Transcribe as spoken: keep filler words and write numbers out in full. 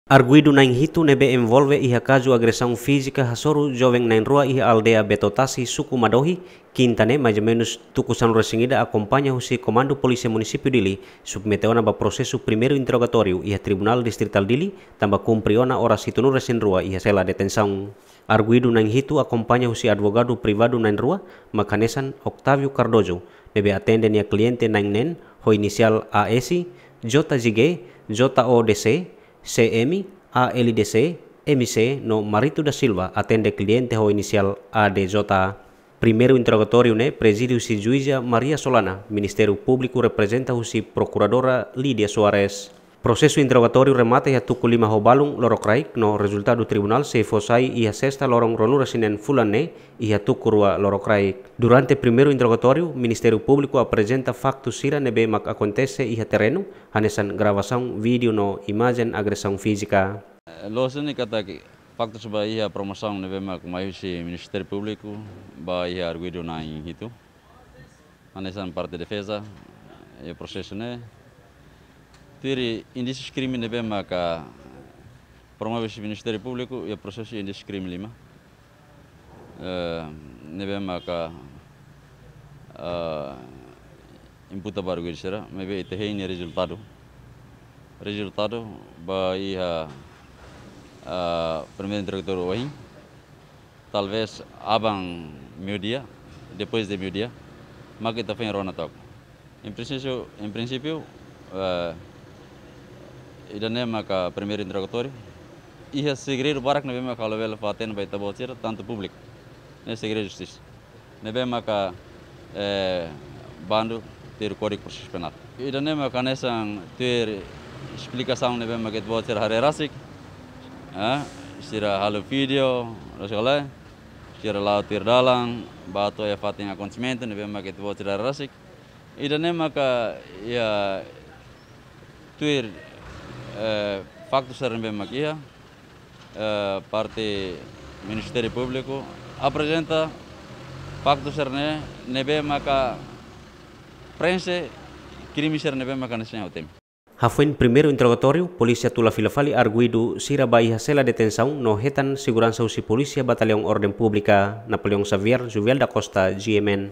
Arguidu na'in hitu ne'ebé envolve iha kazu agresaun fízika hasoru joven na'in rua iha aldeia Betotasi, suku Madohi, kinta ne'e, mais ou menus tuku sanulu-resin-ida, akompaña husi Komandu Polísia Munisípiu Dili, submete ona ba prosesu primeiru interrogatóriu iha Tribunál Distritál Dili, tanba kumpre ona oras hitunulu-resin-rua iha sela detensaun. Arguidu na'in hitu akompaña husi advogadu privadu na'in rua, mak hanesan Octavio Cardoso, ne'ebé atende nia kliente na'in neen, ho inisiál A S, J J G, J O D C, C M, A L D C, M C, no Marito da Silva, atende kliente ho inisiál A D J. Primeiru interrogatóriu ne'e prezide husi Juíza Maria Solana, Ministériu Públiku reprezenta husi Prokuradora Lídia Soares. Prosesu interrogatóriu remata iha tuku lima ho balun lorokraik, no rezultadu tribunál sei fó sai iha sesta loron ruanulu-resin-neen fulan ne'e iha tuku rua lorokraik. Durante primeiru interrogatóriu, Ministériu Públiku aprezenta faktu sira ne'ebé mak akontese iha terrenu, hanesan gravasaun vídeo no imajen agresaun fízika. Loos ne'e katak faktus ba iha promosaun ne'ebé mak mai husi Ministériu Públiku ba iha arguidu na'in hitu. Hanesan parte defeza, iha prosesu ne'e, tuir indísius krime ne'ebé maka promove husi Ministériu Públiku, iha prosesu indísius krime lima. Eh, ne'ebé maka, eh, imputa ba arguidu sira, maibé ita hein nia rezultadu. Rezultadu ba iha, eh, primeiru interrogatóriu ohin. Talvez aban meiudia, depois de meiudia, mak ita foin rona took. Em princípio, em princípio, eh, ida-ne'e maka primeiru interrogatóriu. Iha segredu barak ne'ebé maka ha'u labele fó-hatene ba ita-boot sira, tantu públiku. Ne'e segredu justisa. Ne'ebé maka, eh, bandu tuir Kódigu Prosesu Penál. Ida-ne'e maka hanesan tuir esplikasaun ne'ebé maka ita-boot sira haree rasik. Eh, sira halo vídeo, rasik lai. Sira la'o tuir dalan, ba to'o iha fatin akontesimentu ne'ebé maka ita-boot sira haree rasik. Ida-ne'e maka iha tuir, eh, faktu sira ne'ebé maka iha, eh, parte Ministériu Públiku aprezenta faktu sira-ne'e ne'ebé maka prenxe krime sira ne'ebé maka hanesan ohin temi. Hafoin primeiru interrogatóriu, polísia tula fila fali arguidu sira ba iha sela detensaun no hetan seguransa husi polísia Batallaun Orden Públika, Napoleão Xavier, Juviel da Costa, G M N.